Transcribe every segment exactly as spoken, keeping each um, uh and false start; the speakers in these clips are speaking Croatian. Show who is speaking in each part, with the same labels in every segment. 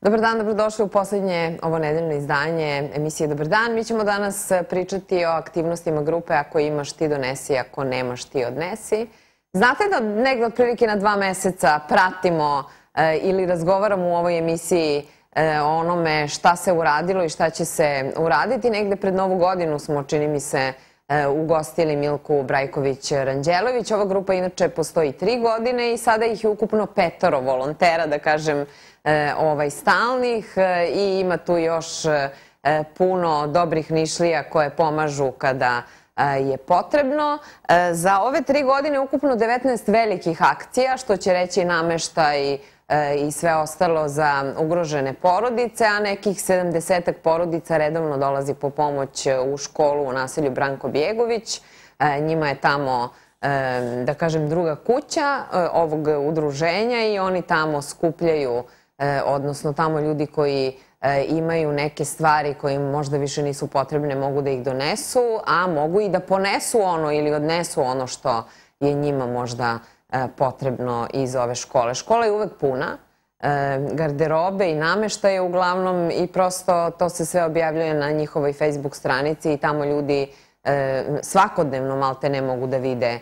Speaker 1: Dobar dan, dobrodošli u poslednje ovo nedeljno izdanje emisije Dobar dan. Mi ćemo danas pričati o aktivnostima grupe Ako imaš ti donesi, ako nemaš ti odnesi. Znate da negde otprilike na dva meseca pratimo ili razgovaramo u ovoj emisiji o onome šta se uradilo i šta će se uraditi. Negde pred Novu godinu smo, čini mi se, ugostili Milku Brajković-Ranđelović. Ova grupa inače postoji tri godine i sada ih je ukupno petoro volontera, da kažem, stalnih, i ima tu još puno dobrih Nišlija koje pomažu kada je potrebno. Za ove tri godine ukupno devetnaest velikih akcija, što će reći nameštaj i sve ostalo za ugrožene porodice, a nekih sedamdesetak porodica redovno dolazi po pomoć u školu u naselju Branko Bjegović. Njima je tamo, da kažem, druga kuća ovog udruženja i oni tamo skupljaju, odnosno tamo ljudi koji imaju neke stvari koje im možda više nisu potrebne mogu da ih donesu, a mogu i da ponesu ono ili odnesu ono što je njima možda potrebno iz ove škole. Škola je uvek puna, garderobe i nameštaje uglavnom, i prosto to se sve objavljuje na njihovoj Facebook stranici i tamo ljudi svakodnevno malte ne mogu da vide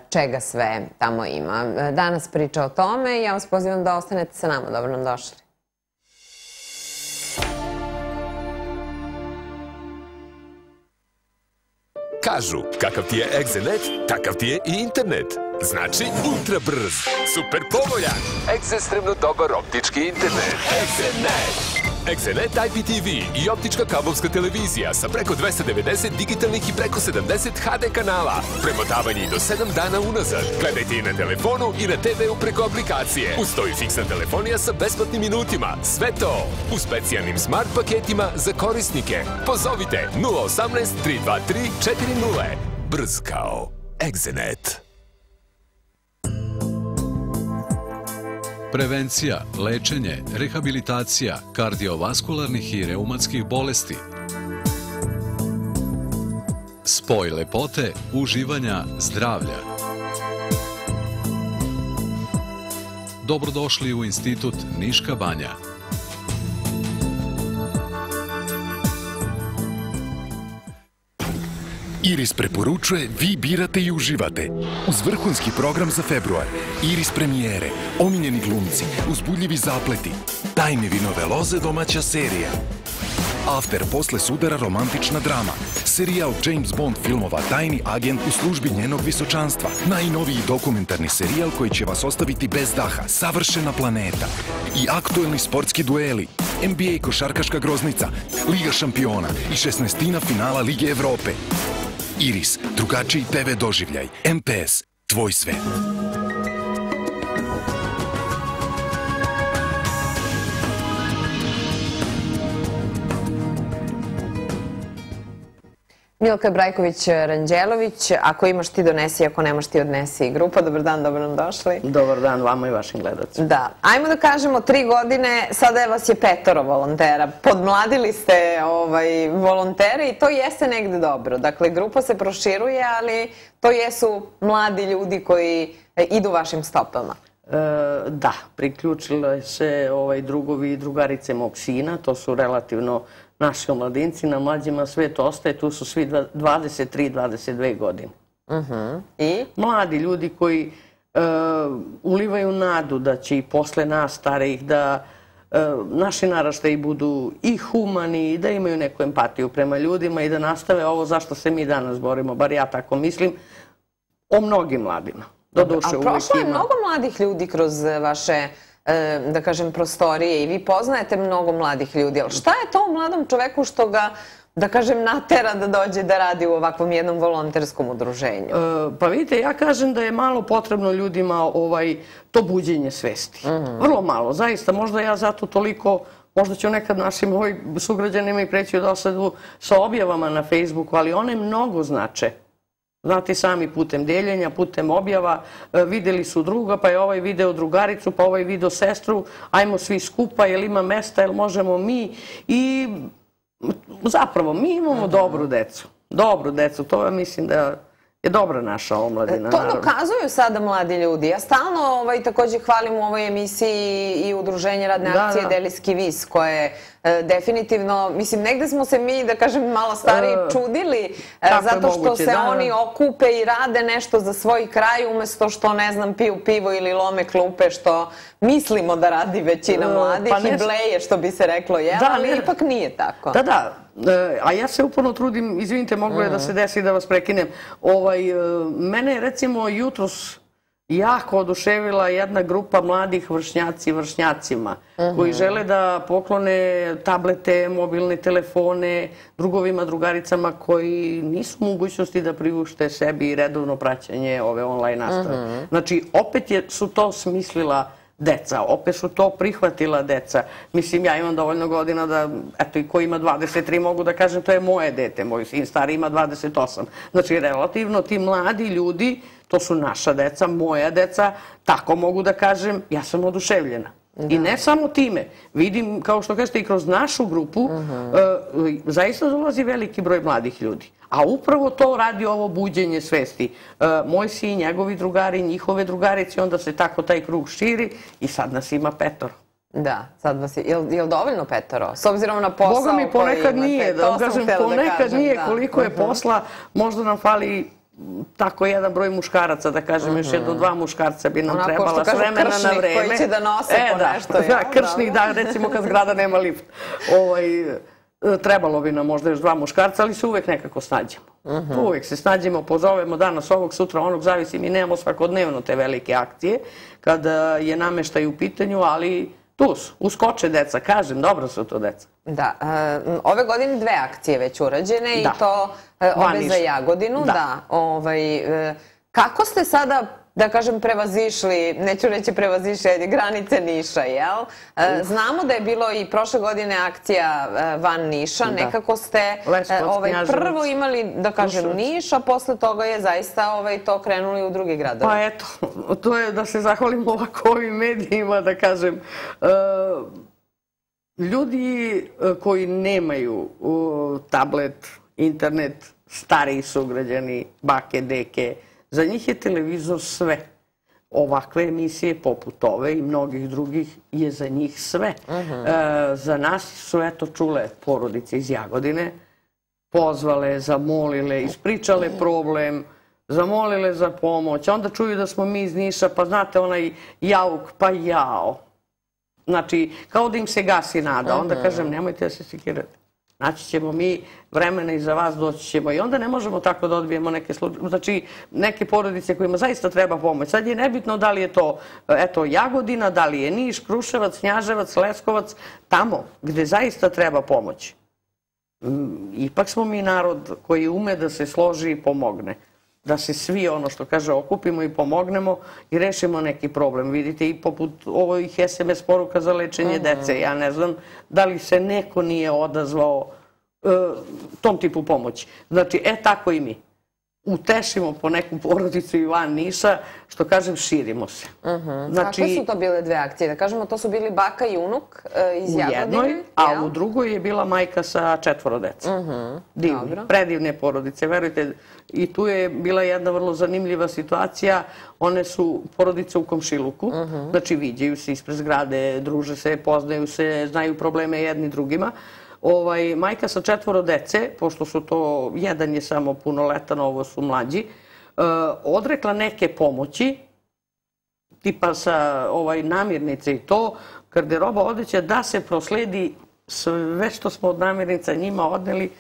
Speaker 1: čega sve tamo ima. Danas priča o tome i ja vas pozivam da ostanete sa nama. Dobro nam došli.
Speaker 2: Kažu, kakav ti je Egzenet, takav ti je i internet. Znači, ultra brz, super povoljan, ekstremno dobar optički internet. Egzenet! Egzenet I P T V i optička kablovska televizija sa preko dvesta devedeset digitalnih i preko sedamdeset H D kanala. Premotavanje i do sedam dana unazad. Gledajte i na telefonu i na te ve u preko aplikacije. Uz to i fiksna telefonija sa besplatnim minutima. Sve to u specijalnim smart paketima za korisnike. Pozovite nula osamnaest tri dva tri četiri nula. Brz kao Egzenet.
Speaker 3: Prevencija, lečenje, rehabilitacija kardiovaskularnih i reumatskih bolesti. Spoj lepote, uživanja, zdravlja. Dobrodošli u Institut Niška banja.
Speaker 4: Iris preporučuje, vi birate i uživate. Uz vrhunski program za februar, Iris premijere, omiljeni glumci, uzbudljivi zapleti, tajne vinove loze domaća serija. After posle sudara romantična drama, serijal James Bond filmova Tajni agent u službi njenog visočanstva, najnoviji dokumentarni serijal koji će vas ostaviti bez daha, Savršena planeta i aktuelni sportski dueli, N B A košarkaška groznica, Liga šampiona i šesnaestina finala Lige Evrope. Iris, drugačiji te ve doživljaj. M P S, tvoj svet.
Speaker 1: Milka Brajković-Ranđelović, Ako imaš ti donesi, ako nemaš ti odnesi. Grupa, dobar dan, dobro nam došli.
Speaker 5: Dobar dan vama i vašim gledacima.
Speaker 1: Da, ajmo da kažemo, tri godine, sada vas je petoro volontera. Podmladili ste volontere i to jeste negde dobro. Dakle, grupa se proširuje, ali to jesu mladi ljudi koji idu vašim stopama.
Speaker 5: Da, priključile se drugovi i drugarice mog sina, to su relativno naši omladinci, na mlađima svet ostaje, tu su svi dvadeset tri dvadeset dve godine.
Speaker 1: I?
Speaker 5: Mladi ljudi koji ulivaju nadu da će i posle nas starijih da naši naraštaji budu i humani i da imaju neku empatiju prema ljudima i da nastave ovo zašto se mi danas borimo, bar ja tako mislim, o mnogim mladima.
Speaker 1: A prošlo je mnogo mladih ljudi kroz vaše, da kažem, prostorije i vi poznajete mnogo mladih ljudi, ali šta je to u mladom čoveku što ga, da kažem, natera da dođe da radi u ovakvom jednom volonterskom udruženju?
Speaker 5: Pa vidite, ja kažem da je malo potrebno ljudima to buđenje svesti. Vrlo malo, zaista. Možda ja zato toliko, možda ću nekad našim sugrađanima i preći u dosadu sa objavama na Facebooku, ali one mnogo znače. Znate, sami putem deljenja, putem objava, videli su druga, pa je ovaj video drugaricu, pa ovaj video sestru, ajmo svi skupa, jel ima mesta, jel možemo mi. I zapravo, mi imamo dobru decu. Dobru decu, to ja mislim da je dobra naša omladina.
Speaker 1: To dokazuju sada mladi ljudi. Ja stalno također hvalim u ovoj emisiji i udruženje radne akcije Delijski vis, koje definitivno, mislim, negde smo se mi, da kažem, malo stariji čudili, zato što se oni okupe i rade nešto za svoj kraj, umesto što, ne znam, piju pivo ili lome klupe, što mislimo da radi većina mladih i bleje, što bi se reklo, jel? Ali ipak nije tako.
Speaker 5: Da, da. A ja se uporno trudim, izvinite, moglo je da se desi da vas prekinem. Mene je, recimo, jutros jako oduševila jedna grupa mladih vršnjaci vršnjacima koji žele da poklone tablete, mobilne telefone drugovima, drugaricama koji nisu u mogućnosti da priušte sebi redovno praćenje ove online nastave. Znači, opet su to smislila deca, opet su to prihvatila deca. Mislim, ja imam dovoljno godina da, eto, i ko ima dvadeset tri mogu da kažem, to je moje dete, moj sin stari ima dvadeset osam. Znači, relativno ti mladi ljudi, to su naša deca, moja deca, tako mogu da kažem, ja sam oduševljena. I ne samo time, vidim, kao što kažete, i kroz našu grupu, zaista dolazi veliki broj mladih ljudi. A upravo to radi ovo buđenje svesti. Moj sin, njegovi drugari, njihove drugarice, onda se tako taj krug širi i sad nas ima petoro.
Speaker 1: Da, sad vas je, je li dovoljno petoro? S obzirom na posao koji imate,
Speaker 5: ponekad nije, da kažem, ponekad nije koliko je posla, možda nam fali tako jedan broj muškaraca, da kažem, još jedno dva muškarca bi nam trebala s vremena na vreme.
Speaker 1: Kršnik koji će da nose po nešto.
Speaker 5: Da, kršnik, da, recimo kad zgrada nema lift. Trebalo bi nam možda još dva muškarca, ali se uvek nekako snađemo. Uvek se snađemo, pozovemo danas ovog, sutra onog, zavisi, mi nemamo svakodnevno te velike akcije kada je nameštaj u pitanju, ali tu su, uskoče deca, kažem, dobro su to deca.
Speaker 1: Da, ove godine dve akcije već urađene i to obe za Jagodinu. Kako ste sada, da kažem, prevazišli, neću reći prevazišli, granice Niša, jel? Znamo da je bilo i prošle godine akcija van Niša, nekako ste prvo imali, da kažem, Niš, a posle toga je zaista to krenuli u drugi gradovi.
Speaker 5: Pa eto, to je da se zahvalimo ovako ovim medijima, da kažem, ljudi koji nemaju tablet, internet, stariji sugrađani, bake, deke, za njih je televizor sve. Ovakve emisije poput ove i mnogih drugih je za njih sve. Za nas su eto čule porodice iz Jagodine, pozvale, zamolile, ispričale problem, zamolile za pomoć, onda čuju da smo mi iz Niša, pa znate onaj jauk, pa jao. Znači, kao da im se gasi nada, onda kažem nemojte da se sekirate. Naći ćemo mi vremena i za vas, doći ćemo i onda ne možemo tako da odbijemo neke slučaje, znači neke porodice kojima zaista treba pomoć. Sad je nebitno da li je to, eto, Jagodina, da li je Niš, Kruševac, Knjaževac, Leskovac, tamo gde zaista treba pomoć. Ipak smo mi narod koji ume da se složi i pomogne. Da se svi, ono što kaže, okupimo i pomognemo i rešimo neki problem. Vidite, i poput ovih es em es poruka za lečenje dece. Ja ne znam da li se neko nije odazvao tom tipu pomoći. Znači, e, tako i mi. Utešimo po neku porodicu i van Niša, što kažem, širimo se.
Speaker 1: Kakve su to bile dve akcije? Da kažemo, to su bili baka i unuk iz Jagodine?
Speaker 5: U jednoj, a u drugoj je bila majka sa četvoro dece. Divni, predivne porodice, verujte. I tu je bila jedna vrlo zanimljiva situacija. One su porodice u komšiluku, znači viđaju se ispred zgrade, druže se, poznaju se, znaju probleme jedni drugima. Majka sa četvoro dece, pošto su to, jedan je samo punoletan, ovo su mlađi, odrekla neke pomoći, tipa sa namirnice i to, garderoba, odeća, da se prosledi sve što smo od namirnica njima odneli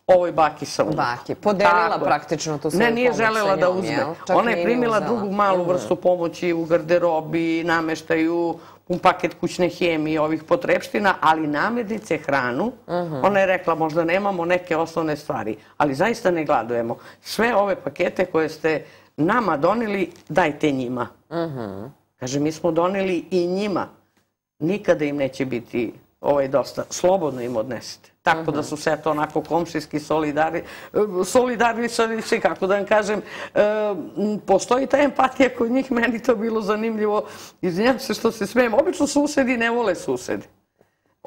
Speaker 5: ovoj baki sa unukom.
Speaker 1: Baki, podelila praktično tu svoju pomoć sa njom, jel?
Speaker 5: Ne, nije želela da uzme. Ona je primila drugu malu vrstu pomoći u garderobi, nameštaju, un paket kućne hemije, ovih potrepština, ali namirnice, hranu. Ona je rekla, možda nemamo neke osnovne stvari, ali zaista ne gladujemo. Sve ove pakete koje ste nama doneli, dajte njima. Kaže, mi smo doneli i njima. Nikada im neće biti dosta. Slobodno im odnesete. Tako da su sve to onako komšijski solidarni, kako da vam kažem, postoji ta empatija kod njih, meni to bilo zanimljivo, izvinjam se što se smijem, obično susedi ne vole susede.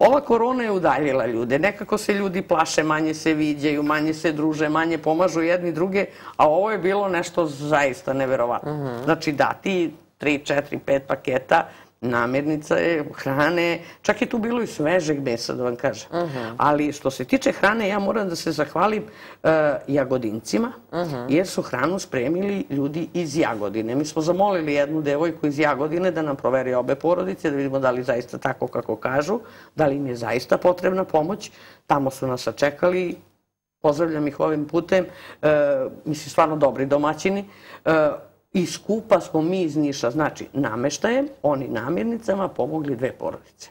Speaker 5: ova korona je udaljila ljude. Nekako se ljudi plaše, manje se viđaju, manje se druže, manje pomažu jedni druge, a ovo je bilo nešto zaista neverovatno. Znači dati tri, četiri, pet paketa namirnica, hrane, čak je tu bilo i svežeg mesa, da vam kažem. Ali što se tiče hrane, ja moram da se zahvalim Jagodincima, jer su hranu spremili ljudi iz Jagodine. Mi smo zamolili jednu devojku iz Jagodine da nam proveri obe porodice, da vidimo da li zaista tako kako kažu, da li im je zaista potrebna pomoć. Tamo su nas sačekali, pozdravljam ih ovim putem, mislim, stvarno dobri domaćini. I skupa smo mi iz Niša, znači nameštajem, oni namirnicama pomogli dve porodice.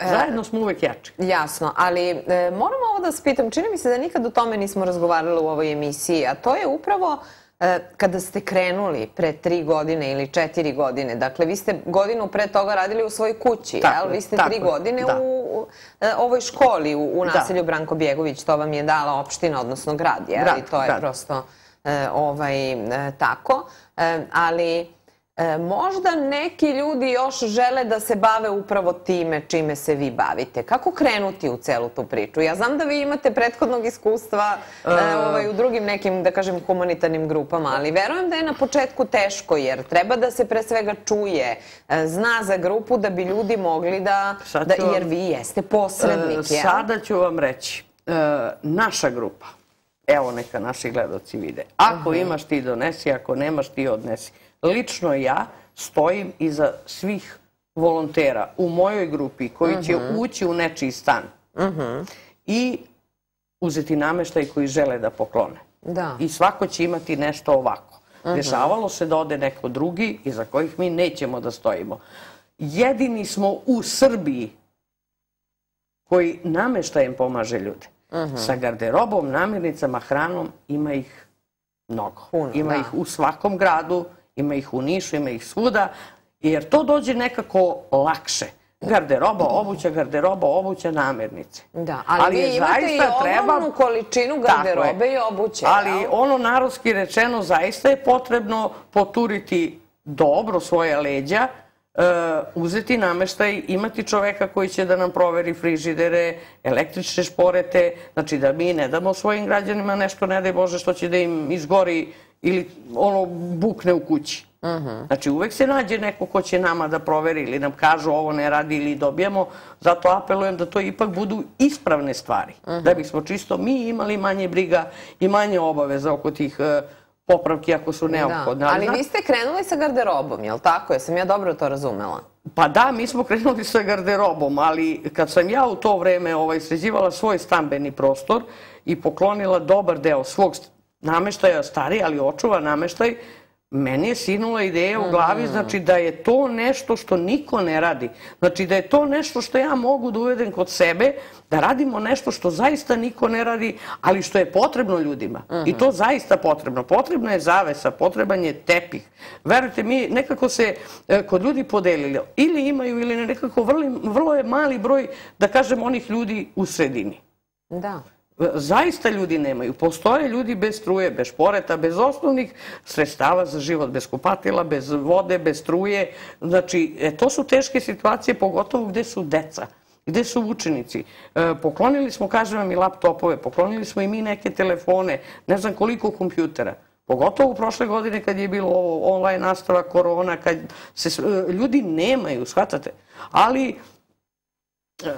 Speaker 5: Zajedno smo uvek jači.
Speaker 1: Jasno, ali moram ovo da vas pitam, čini mi se da nikad o tome nismo razgovarali u ovoj emisiji, a to je upravo kada ste krenuli pre tri godine ili četiri godine, dakle vi ste godinu pre toga radili u svojoj kući, jel? Vi ste tri godine u ovoj školi u naselju Branko Bjegović, to vam je dala opština, odnosno grad, jel? I to je prosto tako, ali možda neki ljudi još žele da se bave upravo time čime se vi bavite. Kako krenuti u celu tu priču? Ja znam da vi imate prethodnog iskustva u drugim nekim, da kažem, humanitarnim grupama, ali verujem da je na početku teško, jer treba da se pre svega čuje, zna za grupu da bi ljudi mogli da, jer vi jeste posrednik.
Speaker 5: Sada ću vam reći, naša grupa, evo neka naši gledaoci vide. Ako imaš ti donesi, ako nemaš ti odnesi. Lično ja stojim iza svih volontera u mojoj grupi koji će ući u nečiji stan i uzeti nameštaj koji žele da poklone. I svako će imati nešto ovako. Dešavalo se da ode neko drugi iza kojih mi nećemo da stojimo. Jedini smo u Srbiji koji nameštajem pomaže ljude. Sa garderobom, namirnicama, hranom ima ih mnogo. Ima ih u svakom gradu, ima ih u Nišu, ima ih svuda, jer to dođe nekako lakše. Garderoba, obuća, garderoba, obuća, namirnice.
Speaker 1: Da, ali vi imate i ogromnu količinu garderobe i obuće.
Speaker 5: Ali ono narodski rečeno, zaista je potrebno poturiti dobro svoje leđa, uzeti nameštaj, imati čoveka koji će da nam proveri frižidere, električne šporete, znači da mi ne damo svojim građanima nešto, ne daj Bože, što će da im izgori ili ono bukne u kući. Znači uvek se nađe neko ko će nama da proveri ili nam kažu ovo ne radi ili dobijamo, zato apelujem da to ipak budu ispravne stvari, da bismo čisto mi imali manje briga i manje obaveza oko tih popravki ako su neophodne.
Speaker 1: Ali vi ste krenuli sa garderobom, je li tako? Jesam ja dobro to razumela?
Speaker 5: Pa da, mi smo krenuli sa garderobom, ali kad sam ja u to vreme sređivala svoj stambeni prostor i poklonila dobar deo svog nameštaja, stari, ali očuva nameštaj, meni je sinula ideja u glavi, znači da je to nešto što niko ne radi. Znači da je to nešto što ja mogu da uvedem kod sebe, da radimo nešto što zaista niko ne radi, ali što je potrebno ljudima. I to zaista potrebno. Potrebna je zavesa, potreban je tepih. Verujte mi, nekako se kod ljudi podelili. Ili imaju, ili nekako vrlo je mali broj, da kažem, onih ljudi u sredini.
Speaker 1: Da.
Speaker 5: Zaista ljudi nemaju. Postoje ljudi bez struje, bez šporeta, bez osnovnih sredstava za život, bez kupatila, bez vode, bez struje. Znači, to su teške situacije, pogotovo gde su deca, gde su učenici. Poklonili smo, kažem vam, i laptopove, poklonili smo i mi neke telefone, ne znam koliko kompjutera. Pogotovo u prošle godine kad je bilo online nastava, korona, kad se ljudi nemaju, shvatate. Ali,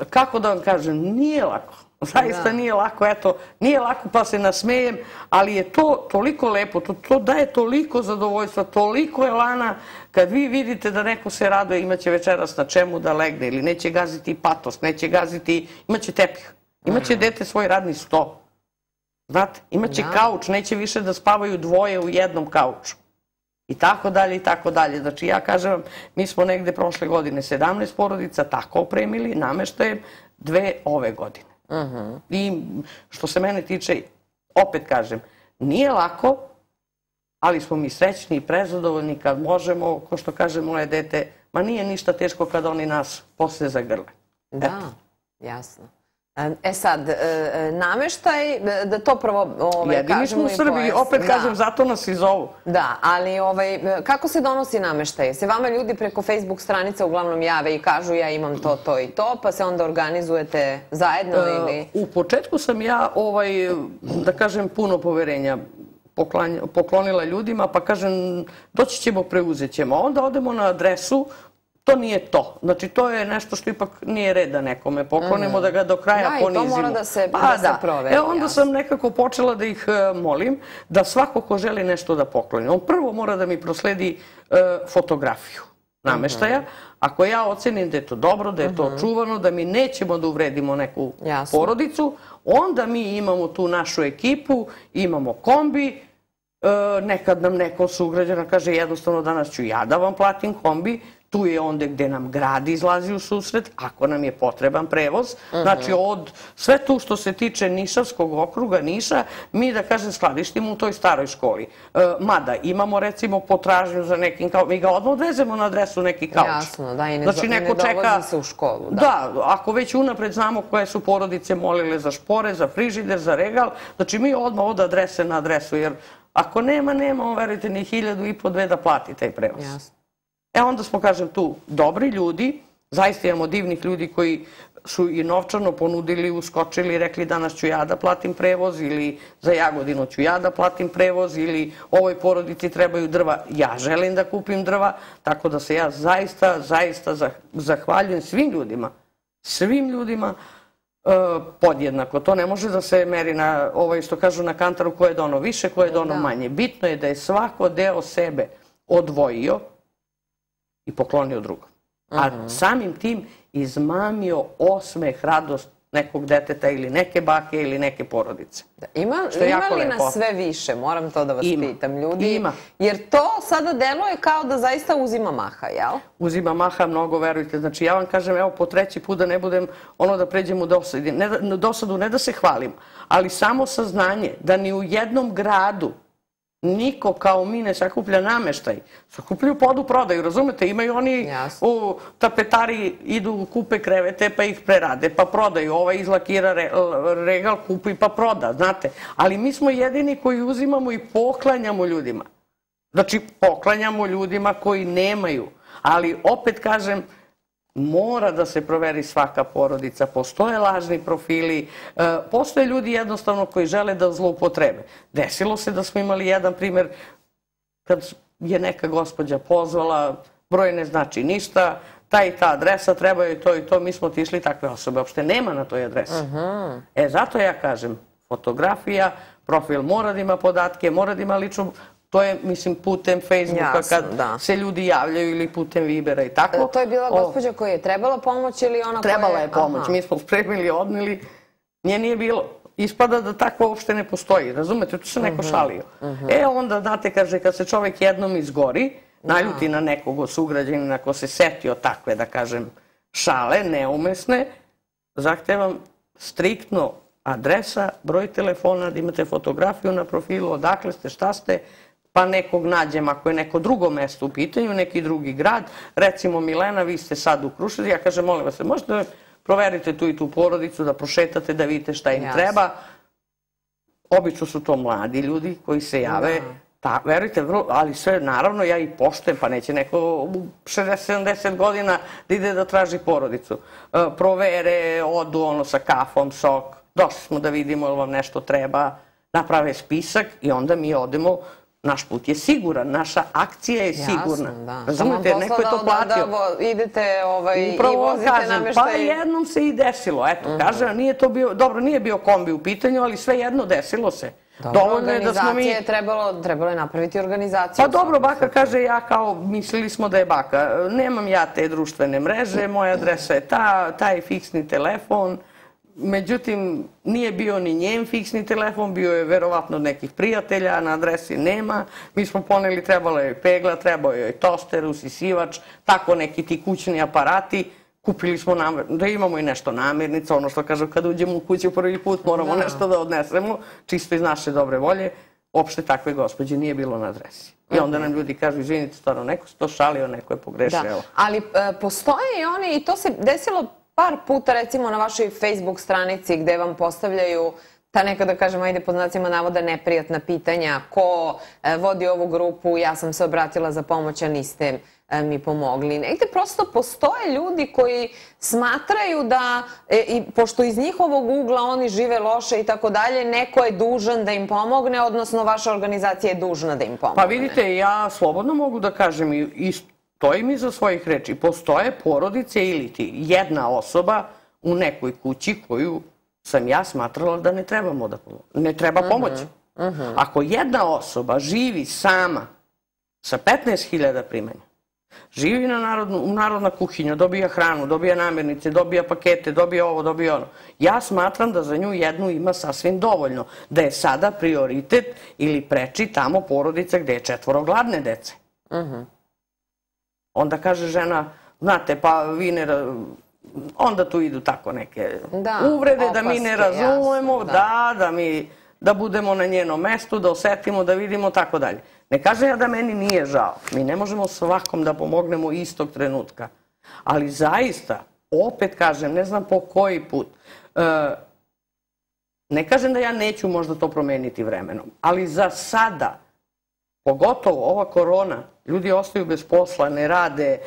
Speaker 5: kako da vam kažem, nije lako. Zaista nije lako, eto, nije lako pa se nasmejem, ali je to toliko lepo, to daje toliko zadovoljstva, toliko elana, kad vi vidite da neko se raduje, imaće večeras na čemu da legne, ili neće gaziti patos, neće gaziti, imaće tepih, imaće dete svoj radni sto, znate, imaće kauč, neće više da spavaju dvoje u jednom kauču. I tako dalje, i tako dalje. Znači, ja kažem vam, mi smo negde prošle godine sedamnaest porodica tako opremili, nameštajem, dve ove godine. I što se mene tiče, opet kažem, nije lako, ali smo mi srećni i prezadovoljni kad možemo, ko što kaže moje dete, ma nije ništa teško kad oni nas posle zagrle.
Speaker 1: Da, jasno. E sad, nameštaj, da to prvo kažemo...
Speaker 5: Jedini smo u Srbiji, opet kažem, zato nas i zovu.
Speaker 1: Da, ali kako se donosi nameštaj? Se vama ljudi preko Facebook stranica uglavnom jave i kažu ja imam to, to i to, pa se onda organizujete zajedno ili...
Speaker 5: U početku sam ja, da kažem, puno poverenja poklonila ljudima, pa kažem, doći ćemo, preuzet ćemo. Onda odemo na adresu, to nije to. Znači, to je nešto što ipak nije red da nekome poklonimo, da ga do kraja ponizimo.
Speaker 1: Da, i to mora da se proveri.
Speaker 5: E, onda sam nekako počela da ih molim da svako ko želi nešto da pokloni. On prvo mora da mi prosledi fotografiju nameštaja. Ako ja ocenim da je to dobro, da je to čuvano, da mi nećemo da uvredimo neku porodicu, onda mi imamo tu našu ekipu, imamo kombi. Nekad nam neko sugrađana kaže jednostavno danas ću ja da vam platim kombi. Tu je onda gde nam grad izlazi u susret, ako nam je potreban prevoz. Znači, od sve tu što se tiče Nišavskog okruga, Niša, mi, da kažem, skladištimo u toj staroj školi. Mada, imamo, recimo, potražnju za nekim kauč. Mi ga odmah odvezemo na adresu neki kauč.
Speaker 1: Jasno, da, i ne dovozi se u školu.
Speaker 5: Da, ako već unapred znamo koje su porodice molile za špore, za frižider, za regal, znači mi odmah od adrese na adresu, jer ako nema, nema, on, verujte, ni hiljadu i po dve da plati taj prevoz.
Speaker 1: Jasno.
Speaker 5: E onda smo, kažem, tu dobri ljudi, zaista imamo divnih ljudi koji su i novčano ponudili, uskočili i rekli danas ću ja da platim prevoz ili za Jagodinu ću ja da platim prevoz ili ovoj porodici trebaju drva, ja želim da kupim drva, tako da se ja zaista, zaista zahvaljujem svim ljudima, svim ljudima podjednako. To ne može da se meri na, što kažu na kantaru, ko je dono više, ko je dono manje. Bitno je da je svako deo sebe odvojio i poklonio drugom. A samim tim izmamio osmeh, radost nekog deteta ili neke bake ili neke porodice.
Speaker 1: Ima li nas sve više? Moram to da vas pitam, ljudi.
Speaker 5: Ima.
Speaker 1: Jer to sada deluje kao da zaista uzima maha, jel?
Speaker 5: Uzima maha, mnogo, verujte. Znači, ja vam kažem, evo, po treći put da ne budem ono da pređem u dosadu, ne da se hvalim, ali samo saznanje da ni u jednom gradu niko kao mi ne sakuplja nameštaj. Sakupljaju podu prodaju, razumete? Imaju oni u tapetari, idu, kupe krevete pa ih prerade, pa prodaju. Ovaj izlakira regal, kupi pa proda, znate. Ali mi smo jedini koji uzimamo i poklanjamo ljudima. Znači, poklanjamo ljudima koji nemaju. Ali, opet kažem, mora da se proveri svaka porodica. Postoje lažni profili, postoje ljudi jednostavno koji žele da zloupotrebe. Desilo se da smo imali jedan primjer kad je neka gospođa pozvala, broj ne znači ništa, ta i ta adresa, treba joj to i to, mi smo otišli, takve osobe uopšte nema na toj adresi. E, zato ja kažem, fotografija, profil mora da ima podatke, mora da ima ličnu. To je, mislim, putem Facebooka kad se ljudi javljaju ili putem Vibera i tako.
Speaker 1: To je bila gospođa koja je trebala pomoć ili ona koja je...
Speaker 5: Trebala je pomoć. Mi smo spremili, odnili. Nje nije bilo. Ispada da takva uopšte ne postoji. Razumete? Tu se neko šalio. E, onda, znate, kaže, kad se čovek jednom izgori, naljuti na nekog sugrađanina ko se setio takve, da kažem, šale, neumesne, zahtevam striktno adresa, broj telefona, da imate fotografiju na profilu, odakle ste, šta ste, pa nekog nađem, ako je neko drugo mesto u pitanju, neki drugi grad, recimo Milena, vi ste sad u Kruševu, ja kažem, molim vas, možete da proverite tu i tu porodicu, da prošetate, da vidite šta im treba. Obično su to mladi ljudi koji se jave, verujte, ali sve, naravno, ja i poštujem, pa neće neko u šezdeset sedamdeset godina da ide da traži porodicu. Provere, odu ono sa kafom, sok, došli smo da vidimo ili vam nešto treba, naprave spisak i onda mi odemo. Naš put je siguran, naša akcija je sigurna.
Speaker 1: Jasno, da.
Speaker 5: Razumete, neko je to platio.
Speaker 1: Da idete i vozite nameštaj.
Speaker 5: Pa jednom se i desilo, eto, kažem, nije to bio, dobro, nije bio kombi u pitanju, ali sve jedno desilo se.
Speaker 1: Dobro, organizacije je trebalo je napraviti organizaciju.
Speaker 5: Pa dobro, baka kaže, ja kao, mislili smo da je baka, nemam ja te društvene mreže, moja adresa je ta, taj fiksni telefon. Međutim, nije bio ni njen fiksni telefon, bio je verovatno od nekih prijatelja, na adresi nema. Mi smo poneli, trebalo je pegla, trebao je toster, usisivač, tako neki ti kućni aparati. Kupili smo da imamo i nešto namirnica, ono što kažu kad uđemo u kuću prvi put moramo nešto da odnesemo, čisto iz naše dobre volje. Opšte takve gospođe nije bilo na adresi. I onda nam ljudi kažu, izvinite, stvarno, neko se to šalio, neko je pogrešio.
Speaker 1: Ali postoje i oni, i to se desilo par puta, recimo, na vašoj Facebook stranici gde vam postavljaju ta neka, da kažem, ajde pod znacima navoda, neprijatna pitanja. Ko vodi ovu grupu, ja sam se obratila za pomoć, a niste mi pomogli. Negde prosto postoje ljudi koji smatraju da, i pošto iz njihovog ugla oni žive loše i tako dalje, neko je dužan da im pomogne, odnosno vaša organizacija je dužna da im pomogne.
Speaker 5: Pa vidite, ja slobodno mogu da kažem i stojim iza svojih reči. Postoje porodice ili ti jedna osoba u nekoj kući koju sam ja smatrala da ne trebamo da pomoći. Ne treba pomoći. Ako jedna osoba živi sama sa petnaest hiljada primanja, živi u narodna kuhinja, dobija hranu, dobija namirnice, dobija pakete, dobija ovo, dobija ono. Ja smatram da za nju jednu ima sasvim dovoljno. Da je sada prioritet ili preči tamo porodica gde je četvoro gladne dece. Onda kaže žena, znate, pa vi ne... Onda tu idu tako neke uvrede da mi ne razumemo, da, da mi... da budemo na njenom mestu, da osetimo, da vidimo, tako dalje. Ne kažem ja da meni nije žao. Mi ne možemo svakom da pomognemo istog trenutka. Ali zaista, opet kažem, ne znam po koji put, ne kažem da ja neću možda to promeniti vremenom, ali za sada, pogotovo ova korona, ljudi ostaju bez posla, ne rade,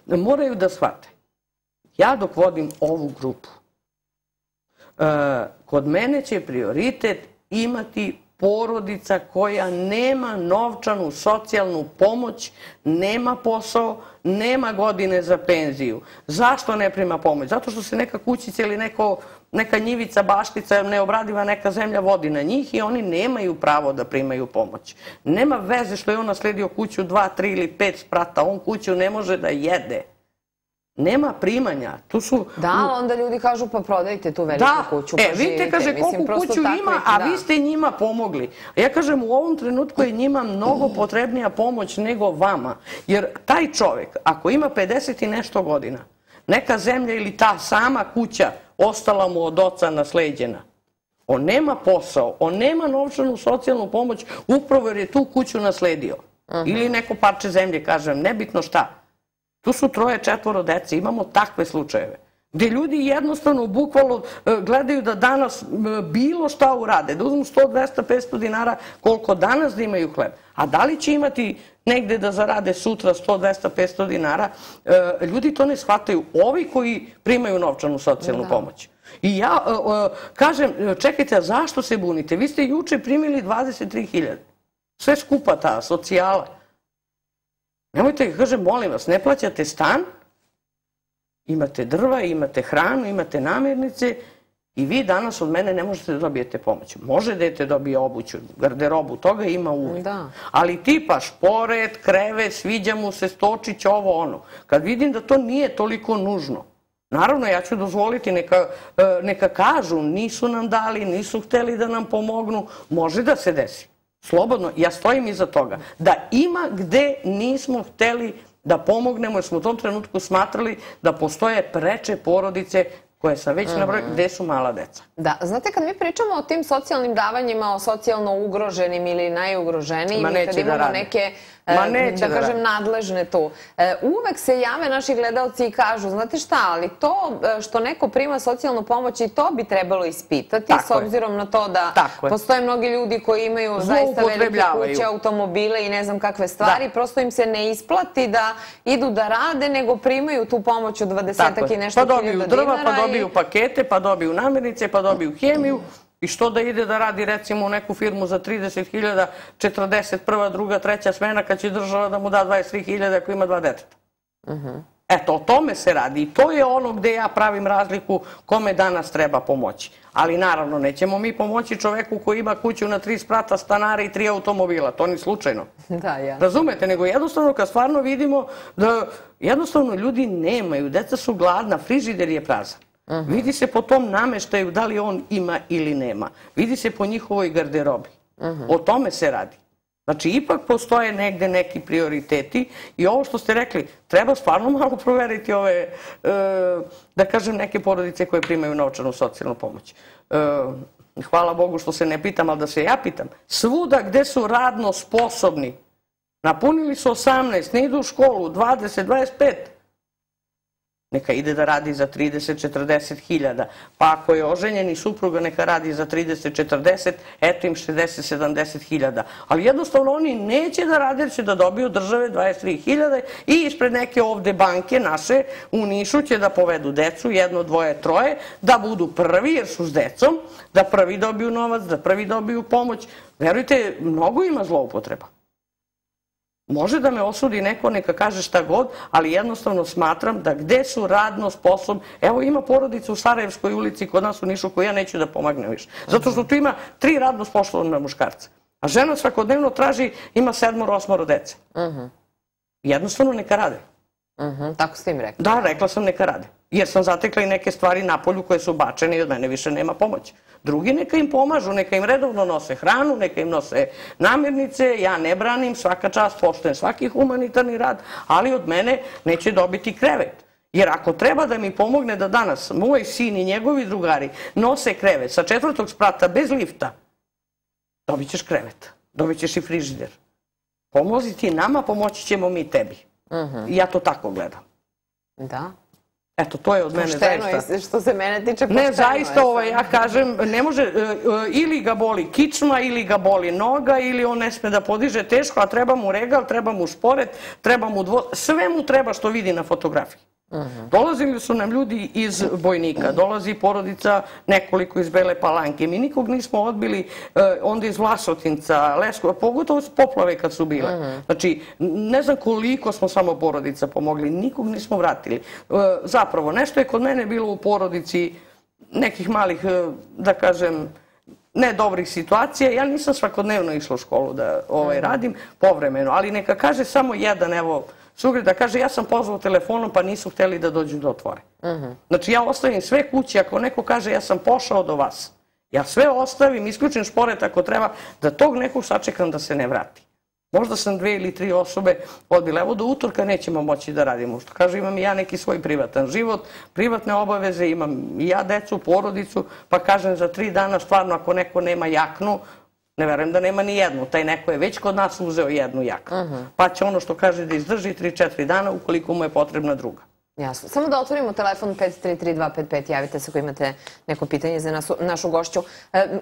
Speaker 5: moraju da shvate. Ja dok vodim ovu grupu, kod mene će prioritet imati porodica koja nema novčanu socijalnu pomoć, nema posao, nema godine za penziju. Zašto ne prima pomoć? Zato što se neka kućica ili neka njivica, baštica, neobradiva neka zemlja vodi na njih i oni nemaju pravo da primaju pomoć. Nema veze što je on nasledio kuću dva, tri ili pet sprata, on kuću ne može da jede. Nema primanja.
Speaker 1: Da, onda ljudi kažu pa prodajte tu veliku kuću, pa
Speaker 5: živite. E, vidite, kaže, koliko kuću ima, a vi ste njima pomogli. Ja kažem, u ovom trenutku je njima mnogo potrebnija pomoć nego vama. Jer taj čovjek, ako ima pedeset i nešto godina, neka zemlja ili ta sama kuća ostala mu od oca nasleđena, on nema posao, on nema novčanu socijalnu pomoć upravo jer je tu kuću nasledio. Ili neko parče zemlje, kažem, nebitno šta. Tu su troje, četvoro dece, imamo takve slučajeve. Gde ljudi jednostavno, bukvalno gledaju da danas bilo šta urade, da uzmu sto, dvesta, petsto dinara koliko danas da imaju hleb. A da li će imati negde da zarade sutra sto, dvesta, petsto dinara, ljudi to ne shvataju. Ovi koji primaju novčanu socijalnu pomoć. I ja kažem, čekajte, a zašto se bunite? Vi ste juče primili dvadeset tri hiljade. Sve skupa ta socijala. Nemojte, kažem, molim vas, ne plaćate stan, imate drva, imate hranu, imate namirnice i vi danas od mene ne možete da dobijete pomoć. Može dete dobije obuću, garderobu, toga ima uvijek. Ali tipa šporet, krevet, sviđa mu se stočić, ovo ono. Kad vidim da to nije toliko nužno, naravno ja ću dozvoliti, neka kažu, nisu nam dali, nisu hteli da nam pomognu, može da se desi. Slobodno, ja stojim iza toga. Da ima gde nismo hteli da pomognemo, jer smo u tom trenutku smatrali da postoje preče porodice koje sam već nabrojila, gde su mala deca.
Speaker 1: Da, znate, kad mi pričamo o tim socijalnim davanjima, o socijalno ugroženim ili najugroženijim, i kad imamo neke, da kažem, nadležne tu, uvek se jave naši gledalci i kažu, znate šta, ali to što neko prima socijalnu pomoć i to bi trebalo ispitati, s obzirom na to da postoje mnogi ljudi koji imaju zaista velike kuće, automobile i ne znam kakve stvari, prosto im se ne isplati da idu da rade, nego primaju tu pomoć od dvadesetak i nešto hiljada dinara.
Speaker 5: Pa dobiju pakete, pa dobiju namirnice, pa dobiju hemiju i što da ide da radi recimo u neku firmu za trideset hiljada, četrdeset prva, druga, treća smena kad će država da mu da dvadeset tri hiljade ako ima dva deteta. Eto, o tome se radi i to je ono gde ja pravim razliku kome danas treba pomoći. Ali naravno, nećemo mi pomoći čoveku koji ima kuću na tri sprata, stanara i tri automobila, to ni slučajno. Razumete, nego jednostavno kad stvarno vidimo da jednostavno ljudi nemaju, deca su gladna, frižider je prazan. Vidi se po tom nameštaju da li on ima ili nema. Vidi se po njihovoj garderobi. O tome se radi. Znači, ipak postoje negde neki prioriteti i ovo što ste rekli, treba stvarno malo proveriti ove, da kažem, neke porodice koje primaju novčanu socijalnu pomoć. Hvala Bogu što se ne pitam, ali da se ja pitam. Svuda gde su radno sposobni, napunili su osamnaest, ne idu u školu, dvadeset, dvadeset pet, neka ide da radi za trideset četrdeset hiljada. Pa ako je oženjeni supruga, neka radi za trideset četrdeset, eto im šezdeset sedamdeset hiljada. Ali jednostavno oni neće da rade, jer će da dobiju države dvadeset tri hiljade i ispred neke ovde banke naše u Nišu će da povedu decu, jedno, dvoje, troje, da budu prvi jer su s decom, da prvi dobiju novac, da prvi dobiju pomoć. Verujte, mnogo ima zloupotreba. Može da me osudi neko, neka kaže šta god, ali jednostavno smatram da gde su radno sposobni... Evo ima porodica u Sarajevskoj ulici kod nas u Nišu koju ja neću da pomagnem više. Zato što tu ima tri radno sposobna muškarca. A žena svakodnevno traži, ima sedmoro, osmoro dece. Jednostavno neka rade.
Speaker 1: Tako ste im rekli?
Speaker 5: Da, rekla sam neka rade. Jer sam zatekla i neke stvari na polju koje su bačene i od mene više nema pomoći. Drugi neka im pomažu, neka im redovno nose hranu, neka im nose namirnice, ja ne branim, svaka čast, poštujem svaki humanitarni rad, ali od mene neće dobiti krevet. Jer ako treba da mi pomogne da danas moj sin i njegovi drugari nose krevet sa četvrtog sprata bez lifta, dobit ćeš krevet, dobit ćeš i frižider. Pomozi ti nama, pomoći ćemo mi tebi. I ja to tako gledam.
Speaker 1: Da.
Speaker 5: Eto, to je od mene zaista...
Speaker 1: Pošteno, što se mene tiče pošteno.
Speaker 5: Ne, zaista, ja kažem, ne može, ili ga boli kičma, ili ga boli noga, ili on ne sme da podiže teško, a treba mu regal, treba mu šporet, treba mu dvo... Sve mu treba što vidi na fotografiji. Dolazili su nam ljudi iz Bojnika, dolazi porodica nekoliko iz Bele Palanke. Mi nikog nismo odbili, onda iz Vlasotinca, Leskova, pogotovo s poplave kad su bile. Znači, ne znam koliko smo samo porodica pomogli, nikog nismo vratili. Zapravo, nešto je kod mene bilo u porodici nekih malih, da kažem, ne dobrih situacija. Ja nisam svakodnevno išla u školu da radim, povremeno, ali neka kaže samo jedan, evo, sugrad da kaže ja sam pozvao telefonom pa nisu hteli da dođu da otvore. Znači ja ostavim sve kući, ako neko kaže ja sam pošao do vas, ja sve ostavim, isključim šporet ako treba, da tog nekog sačekam da se ne vrati. Možda sam dve ili tri osobe odbila, evo do utorka nećemo moći da radimo. Što kaže, imam i ja neki svoj privatan život, privatne obaveze, imam i ja decu, porodicu, pa kažem za tri dana stvarno ako neko nema jaknu, ne verujem da nema ni jednu. Taj neko je već kod nas uzeo jednu jaknu. Pa će ono što kaže da izdrži tri četiri dana ukoliko mu je potrebna druga.
Speaker 1: Jasno. Samo da otvorimo telefon pet tri tri dva pet pet, javite se ako imate neko pitanje za našu gošću.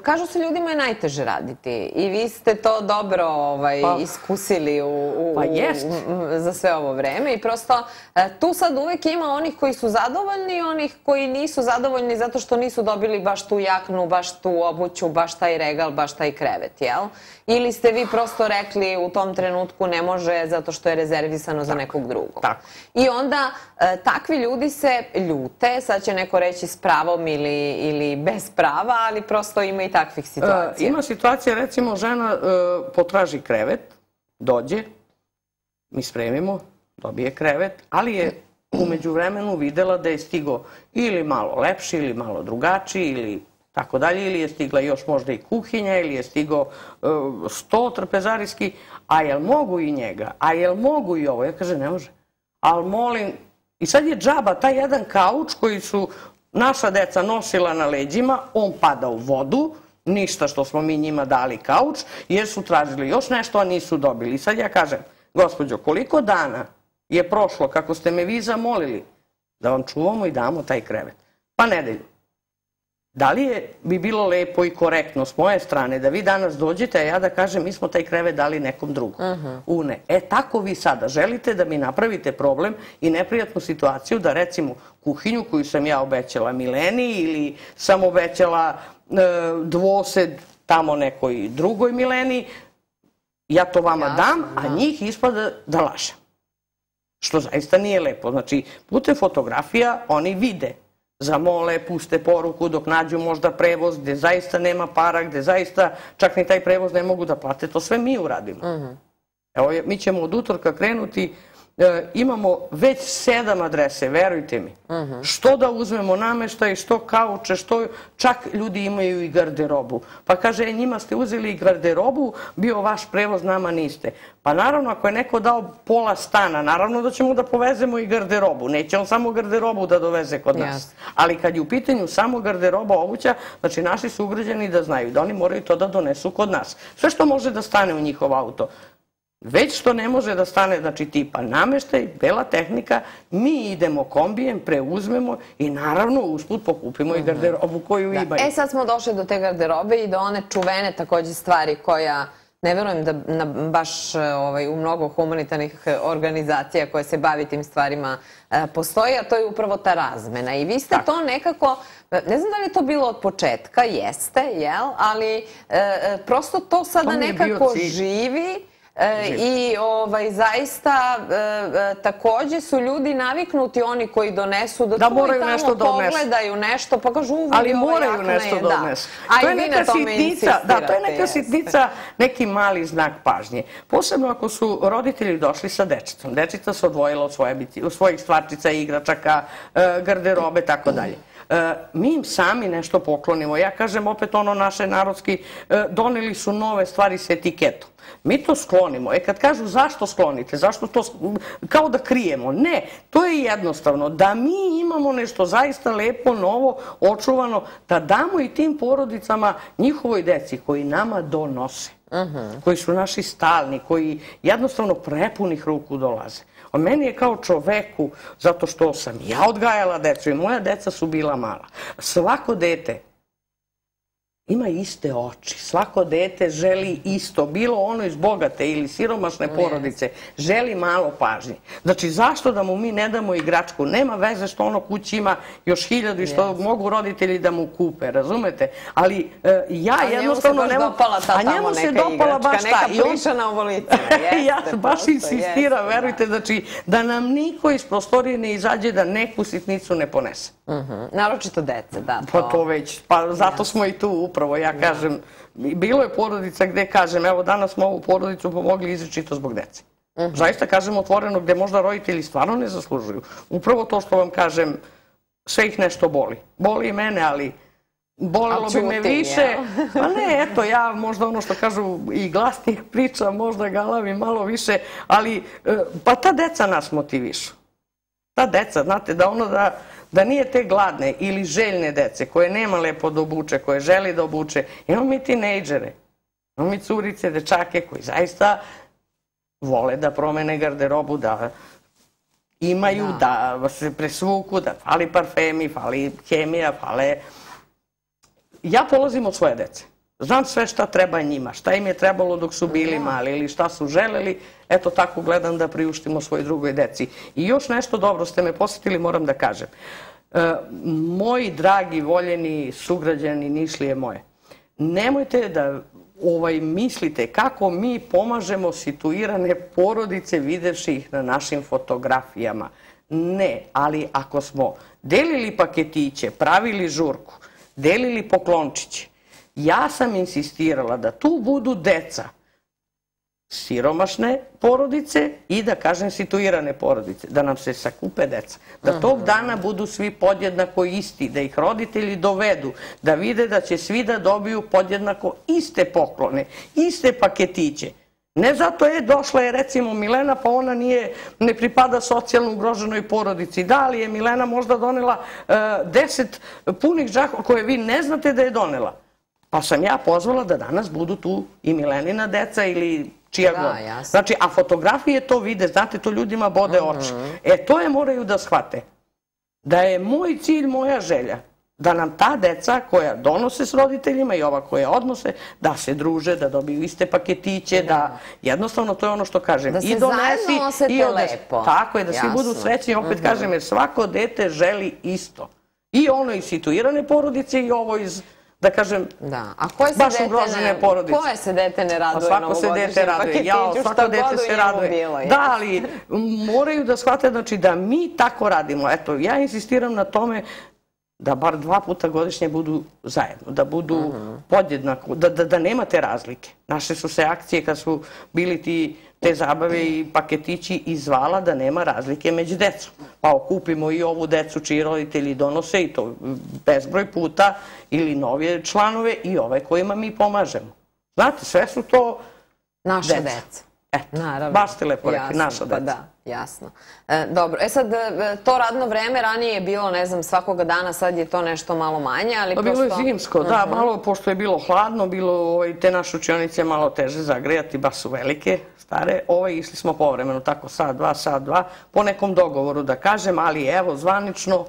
Speaker 1: Kažu se ljudima je najteže raditi i vi ste to dobro iskusili za sve ovo vreme i prosto tu sad uvek ima onih koji su zadovoljni i onih koji nisu zadovoljni zato što nisu dobili baš tu jaknu, baš tu obuću, baš taj regal, baš taj krevet, jel? Ili ste vi prosto rekli u tom trenutku ne može zato što je rezervisano za nekog drugog. I onda takvi ljudi se ljute, sad će neko reći s pravom ili bez prava, ali prosto ima i takvih situacija.
Speaker 5: Ima situacija, recimo, žena potraži krevet, dođe, mi spremimo, dobije krevet, ali je umeđu vremenu videla da je stigo ili malo lepši, ili malo drugačiji, ili tako dalje, ili je stigla još možda i kuhinja, ili je stigo sto trpezarijski, a jel mogu i njega, a jel mogu i ovo? Ja kaže, ne može. Ali molim, i sad je džaba, taj jedan kauč koji su naša deca nosila na leđima, on pada u vodu, ništa što smo mi njima dali kauč, jer su tražili još nešto, a nisu dobili. I sad ja kažem, gospođo, koliko dana je prošlo kako ste me vi zamolili da vam čuvamo i damo taj krevet? Pa nedelju. Da li bi bilo lepo i korektno s moje strane da vi danas dođete, a ja da kažem mi smo taj krevet dali nekom drugom? U ne. E tako vi sada želite da mi napravite problem i neprijatnu situaciju da recimo kuhinju koju sam ja obećala Mileni ili sam obećala dvosed tamo nekoj drugoj Mileni, ja to vama dam, a njih ispada da lažem. Što zaista nije lepo. Znači, putem fotografija oni vide, zamole, puste poruku dok nađu možda prevoz gde zaista nema para, gde zaista čak ni taj prevoz ne mogu da plate. To sve mi uradimo. Evo, mi ćemo od utorka krenuti, imamo već sedam adrese, verujte mi. Što da uzmemo nameštaj, što kauče, što čak ljudi imaju i garderobu. Pa kaže, njima ste uzeli i garderobu, bio vaš prevoz, nama niste. Pa naravno, ako je neko dao pola stana, naravno da ćemo da povezemo i garderobu. Neće on samo garderobu da doveze kod nas. Ali kad je u pitanju samo garderoba, obuća, znači naši sugrađani da znaju da oni moraju to da donesu kod nas. Sve što može da stane u njihov auto. Već što ne može da stane, znači tipa nameštaj, bela tehnika, mi idemo kombijem, preuzmemo i naravno usput pokupimo i garderobu koju imaju.
Speaker 1: E sad smo došli do te garderobe i do one čuvene takođe stvari koja, ne verujem da baš u mnogo humanitarnih organizacija koje se bavi tim stvarima postoji, a to je upravo ta razmena. I vi ste to nekako, ne znam da li je to bilo od početka, jeste, jel? Ali prosto to sada nekako živi. I zaista takođe su ljudi naviknuti, oni koji donesu, da tu i tamo pogledaju nešto, pa kažu uvijek
Speaker 5: ali moraju nešto donesu.
Speaker 1: A i vi na tome insistirate.
Speaker 5: Da, to je neka sitnica, neki mali znak pažnje. Posebno ako su roditelji došli sa dečicom. Dečica se odvojila od svojih stvarčica, igračaka, garderobe, tako dalje. Mi im sami nešto poklonimo. Ja kažem opet ono naše narodski, doneli su nove stvari s etiketom. Mi to sklonimo. E kad kažu zašto sklonite, zašto to, kao da krijemo. Ne, to je jednostavno. Da mi imamo nešto zaista lepo, novo, očuvano, da damo i tim porodicama, njihovoj deci koji nama donose, koji su naši stalni, koji jednostavno prepunih ruku dolaze. A meni je kao čoveku, zato što sam ja odgajala decu i moja deca su bila mala. Svako dete ima iste oči. Svako dete želi isto. Bilo ono iz bogate ili siromašne porodice, želi malo pažnje. Znači, zašto da mu mi ne damo igračku? Nema veze što ono kući ima još hiljadu i što mogu roditelji da mu kupe, razumete? Ali ja jednostavno...
Speaker 1: A njemu se baš dopala ta tamo neka igračka, neka plišana ovolicina.
Speaker 5: Ja baš insistiram, verujte, znači, da nam niko iz prostorije ne izađe da neku sitnicu ne ponese.
Speaker 1: Naročito dece, da.
Speaker 5: Pa to već, pa zato smo i tu upravo, ja kažem, bilo je porodica gde kažem, evo danas smo ovu porodicu pomogli izričito zbog dece. Zaista kažem otvoreno gde možda roditelji stvarno ne zaslužuju. Upravo to što vam kažem, sve ih nešto boli. Boli i mene, ali bolelo bi me više. Pa ne, eto, ja možda ono što kažu i glasnije pričam, možda galavim malo više, ali pa ta deca nas motivišu. Ta deca, znate, da ono da... da nije te gladne ili željne dece koje nema lepo da obuče, koje želi da obuče. Imamo mi tinejdžere, imamo mi curice, dečake koji zaista vole da promene garderobu, da imaju, da se presvuku, da fali parfemi, fali hemija, fale... Ja polazim od svoje dece. Znam sve šta treba njima, šta im je trebalo dok su bili mali ili šta su želeli. Eto tako gledam da priuštimo svoj drugoj deci. I još nešto dobro ste me posjetili, moram da kažem. Moji dragi, voljeni sugrađani Nišlije moje, nemojte da mislite kako mi pomažemo situirane porodice videvši ih na našim fotografijama. Ne, ali ako smo delili paketiće, pravili žurku, delili poklončiće, ja sam insistirala da tu budu deca siromašne porodice i da kažem situirane porodice, da nam se sakupe deca. Da tog dana budu svi podjednako isti, da ih roditelji dovedu, da vide da će svi da dobiju podjednako iste poklone, iste paketiće. Ne zato je došla je recimo Milena pa ona ne pripada socijalno ugroženoj porodici. Da li je Milena možda donela deset punih džakova koje vi ne znate da je donela? Pa sam ja pozvala da danas budu tu i Milenina deca ili čija god. Znači, a fotografije to vide, znate, to ljudima bode oči. E, to je moraju da shvate. Da je moj cilj, moja želja, da nam ta deca koja donose s roditeljima i ova koja odnose, da se druže, da dobiju iste paketiće, da jednostavno to je ono što kažem.
Speaker 1: Da se zajedno osete lepo.
Speaker 5: Tako je, da svi budu srećni. Opet kažem, jer svako dete želi isto. I ono iz situirane porodice i ovo iz... da kažem, baš ugrožene porodice.
Speaker 1: Koje se dete ne raduje novogodišnjem paketiću,
Speaker 5: što god u njemu bilo? Da, ali moraju da shvate da mi tako radimo. Eto, ja insistiram na tome da bar dva puta godišnje budu zajedno, da budu podjednako, da nema te razlike. Naše su se akcije kad su bili te zabave i paketići izvala da nema razlike među decom. Pa okupimo i ovu decu čiji roditelji donose i to bezbroj puta ili novije članove i ove kojima mi pomažemo. Znate, sve su to
Speaker 1: naša deca.
Speaker 5: Eto,
Speaker 1: Naravno.
Speaker 5: baš ste lepo rekli,
Speaker 1: Jasno,
Speaker 5: naša
Speaker 1: pa
Speaker 5: deca.
Speaker 1: da, jasno. E, dobro, e sad, e, to radno vreme ranije je bilo, ne znam, svakoga dana, sad je to nešto malo manje, ali
Speaker 5: Pa
Speaker 1: prosto...
Speaker 5: bilo je zimsko, da, malo, pošto je bilo hladno, bilo ovaj, te naše učionice malo teže zagrejati, baš su velike, stare. Ovaj, išli smo povremeno, tako sat, dva, sat, dva, po nekom dogovoru da kažem, ali evo, zvanično,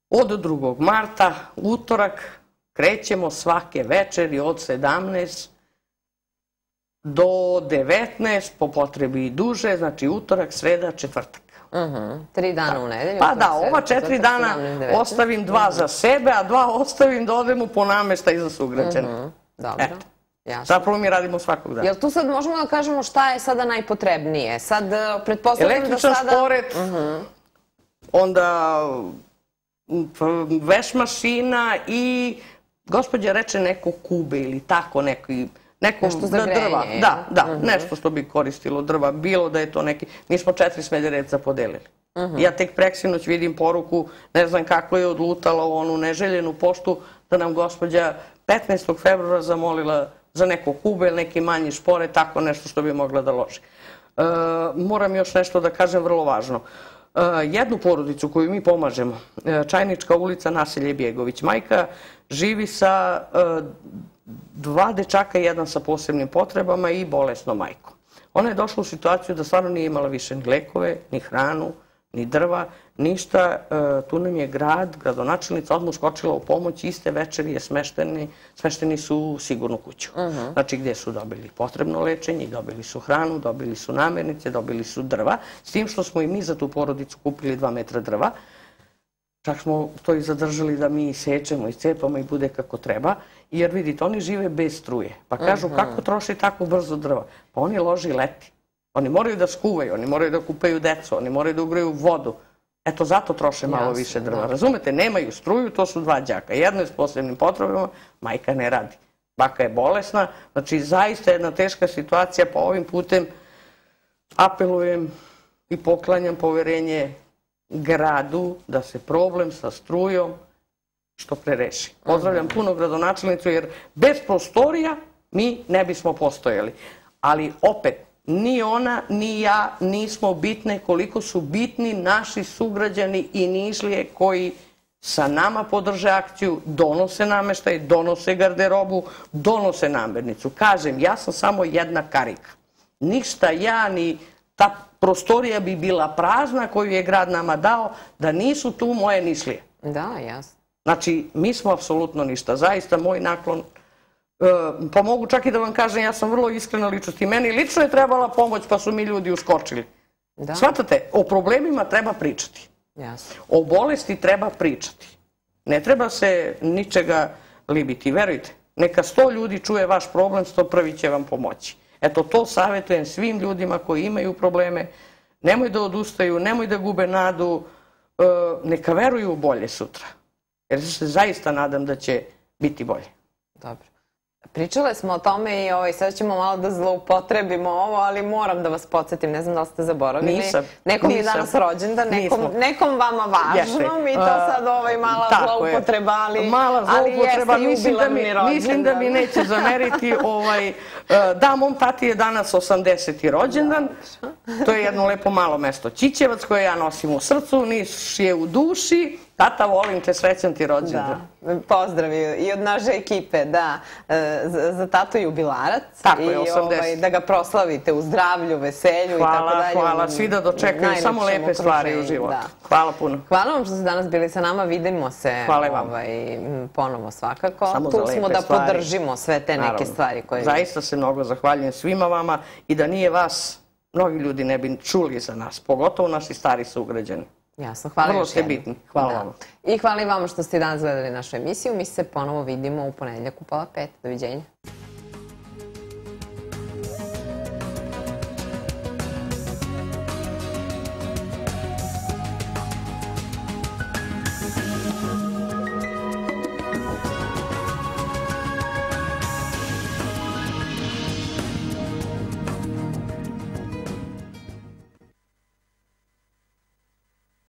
Speaker 5: od drugog marta, utorak, krećemo svake večeri od sedamnaest do devetnaest, po potrebi i duže, znači utorak, sreda, četvrtak.
Speaker 1: Tri dana u nedelju.
Speaker 5: Pa da, ova četiri dana ostavim dva za sebe, a dva ostavim da odem u ponameštaj za sugrađane.
Speaker 1: Dobro, jasno.
Speaker 5: Zapravo mi radimo svakog dana.
Speaker 1: Jel tu sad možemo da kažemo šta je sada najpotrebnije? Sad, pretpostavljam da sada...
Speaker 5: Električan šporet, onda veš mašina i gospođa reče neko kube ili tako neki...
Speaker 1: Nešto za grejanje.
Speaker 5: Da, da, nešto što bi koristilo drva, bilo da je to neki... Mi smo četiri smederevca podelili. Ja tek preksinoć vidim poruku, ne znam kako je odlutala u onu neželjenu poštu, da nam gospođa petnaestog februara zamolila za neko kube ili neki manji špore, tako nešto što bi mogla da loži. Moram još nešto da kažem vrlo važno. Jednu porodicu koju mi pomažemo, Čajnička ulica, naselje Bjegović, majka živi sa dva dečaka, jedan sa posebnim potrebama i bolesnom majkom. Ona je došla u situaciju da stvarno nije imala više ni lekove, ni hranu, ni drva, ništa. Tu nam je grad, gradonačelnica odmah skočila u pomoć, iste večeri je smešteni, smešteni su u sigurnu kuću. Znači gdje su dobili potrebno lečenje, dobili su hranu, dobili su namirnice, dobili su drva, s tim što smo i mi za tu porodicu kupili dva metra drva. Čak smo to i zadržali da mi sečemo i cepamo i bude kako treba. Jer vidite, oni žive bez struje. Pa kažu kako troši tako brzo drva? Pa oni loži leti. Oni moraju da skuvaju, oni moraju da kupaju decu, oni moraju da ugraju vodu. Eto, zato troše malo više drva. Razumete, nemaju struju, to su dva đaka. Jedno je s posebnim potrebama, majka ne radi. Baka je bolesna, znači zaista jedna teška situacija, pa ovim putem apelujem i poklanjam poverenje gradu da se problem sa strujom što pre reši. Pozdravljam puno gradonačelnicu jer bez prostorija mi ne bismo postojali. Ali opet, ni ona, ni ja nismo bitne koliko su bitni naši sugrađani i Nišlije koji sa nama podrže akciju, donose nameštaj, donose garderobu, donose namirnicu. Kažem, ja sam samo jedna karika. Ništa ja ni ta prostorija bi bila prazna koju je grad nama dao da nisu tu moje Nišlije.
Speaker 1: Da, jasno.
Speaker 5: Znači, mi smo apsolutno ništa. Zaista, moj naklon, pa mogu čak i da vam kažem, ja sam vrlo iskrena ličnost i meni lično je trebala pomoć pa su mi ljudi uskočili. Shvatate, o problemima treba pričati. O bolesti treba pričati. Ne treba se ničega libiti. Verujte, neka sto ljudi čuje vaš problem, sto prvi će vam pomoći. Eto, to savjetujem svim ljudima koji imaju probleme. Nemoj da odustaju, nemoj da gube nadu, neka veruju u bolje sutra. Jer se zaista nadam da će biti bolje.
Speaker 1: Dobro. Pričale smo o tome i sad ćemo malo da zloupotrebimo ovo, ali moram da vas podsjetim, ne znam da li ste zaboravili.
Speaker 5: Nisam.
Speaker 1: Nekom je danas rođendan, nekom vama važno, mi to sad mala zloupotreba, ali jeste jubilarni rođendan.
Speaker 5: Mislim da mi neće zameriti. Da, mom tati je danas osamdeseti rođendan. To je jedno lepo malo mesto Ćićevac koje ja nosim u srcu, Niš je u duši. Tata, volim te, srećan ti rođendan.
Speaker 1: Pozdrav i od naše ekipe, da, za tatu jubilarac.
Speaker 5: Tako je, osamdeset.
Speaker 1: I da ga proslavite u zdravlju, veselju i tako dalje.
Speaker 5: Hvala, hvala, svi da dočekaju samo lepe stvari u životu. Hvala puno.
Speaker 1: Hvala vam što ste danas bili sa nama, vidimo se ponovo svakako. Tu smo da podržimo sve te neke stvari koje...
Speaker 5: Zaista se mnogo zahvaljujem svima vama i da nije vas, mnogi ljudi ne bi čuli za nas, pogotovo naši stari sugrađani.
Speaker 1: Jasno, hvala još jednom.
Speaker 5: Vrlo ste bitni. Hvala vam.
Speaker 1: I hvala i vama što ste danas gledali našu emisiju. Mi se ponovo vidimo u ponedeljak u pola pet. Doviđenja.